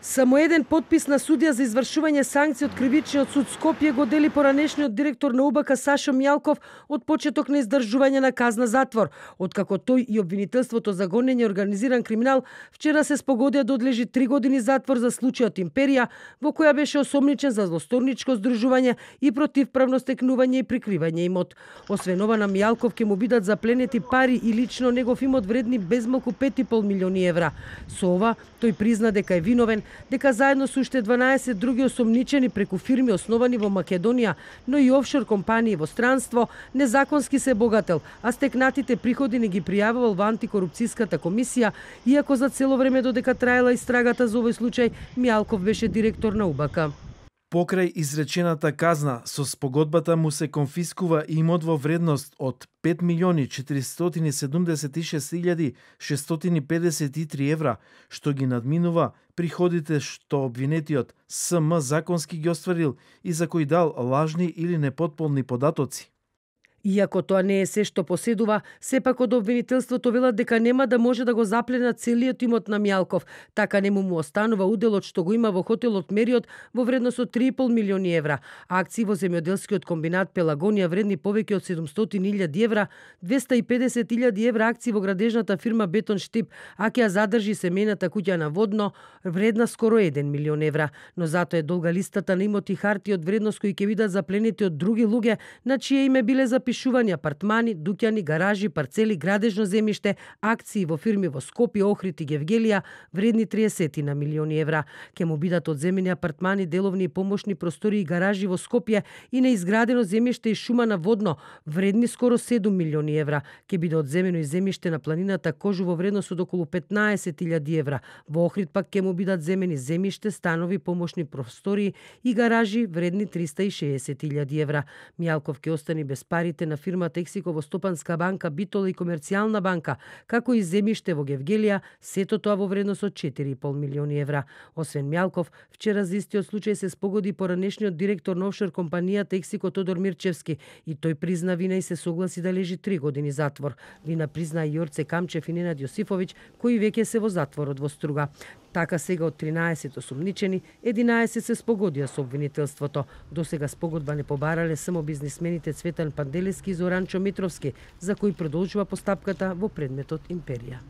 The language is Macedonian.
Само еден подпис на судија за извршување санкции од кривичниот суд Скопје го дели поранешниот директор на УБК Сашо Мјалков од почеток на издржување на казна затвор, откако тој и обвинителството за гонење организиран криминал вчера се спогодија да одлежи 3 години затвор за случајот Империја, во која беше осомничен за злосторничко здружување и противправно стекнување и прикривање имот. Освен ова, на Мјалков ќе му бидат запленети пари и лично негов имот вредни безмалку 5,5 милиони евра. Со ова тој призна дека е виновен, дека заедно со уште 12 други осомничени преку фирми основани во Македонија, но и офшор компании во странство, незаконски се богател, а стекнатите приходи не ги пријавувал во антикорупцијската комисија, иако за цело време додека траела истрагата за овој случај, Мјалков беше директор на УБК. Покрај изречената казна, со спогодбата му се конфискува имот во вредност од 5.476.653 евра, што ги надминува приходите што обвинетиот СМ законски ги остварил и за кои дал лажни или непотполни податоци. Иако тоа не е се што поседува, сепак од обвинителството велат дека нема да може да го запленат целиот имот на Мјалков, така не му останува уделот што го има во хотелот Мериот во вредност од 3,5 милиони евра, акции во земјоделскиот комбинат Пелагонија вредни повеќе од 700.000 евра, 250.000 евра акции во градежната фирма Бетон Штип, а ќе ја задржи семејната куќа на Водно, вредна скоро 1 милион евра, но затоа е долга листата на имоти харти од вредност кои ќе бидат запленети од други луѓе на чие име биле запишувани апартмани, дуќани, гаражи, парцели, градежно земјиште, акции во фирми во Скопје, Охрид и Гевгелија, вредни 30 на милиони евра. Ке му бидат одземени апартмани, деловни и помошни простори и гаражи во Скопје и неизградено земјиште и шума на Водно, вредни скоро 7 милиони евра. Ке биде одземено и земјиште на планината Кожу во вредност од околу 15.000 евра. Во Охрид пак ке му бидат земени земјиште, станови, помошни простори и гаражи вредни 360.000 евра. Мјалков ке остани без парите на фирмата Ексико во Стопанска банка, Битола и Комерцијална банка, како и земјиште во Гевгелија, сето тоа во вредност од 4,5 милиони евра. Освен Мјалков, вчера за истиот случај се спогоди поранешниот директор на офшор компанијата Ексико Тодор Мирчевски и тој призна вина и се согласи да лежи 3 години затвор. Вина призна и Јорце Камчев и Ненад Јосифовиќ, кои веќе се во затворот во Струга. Така сега од 13 осумничени, 11 се спогодија со обвинителството. До сега спогодба не побарале само бизнисмените Цветан Панделески и Зоранчо Митровски, за кои продолжува постапката во предметот Империја.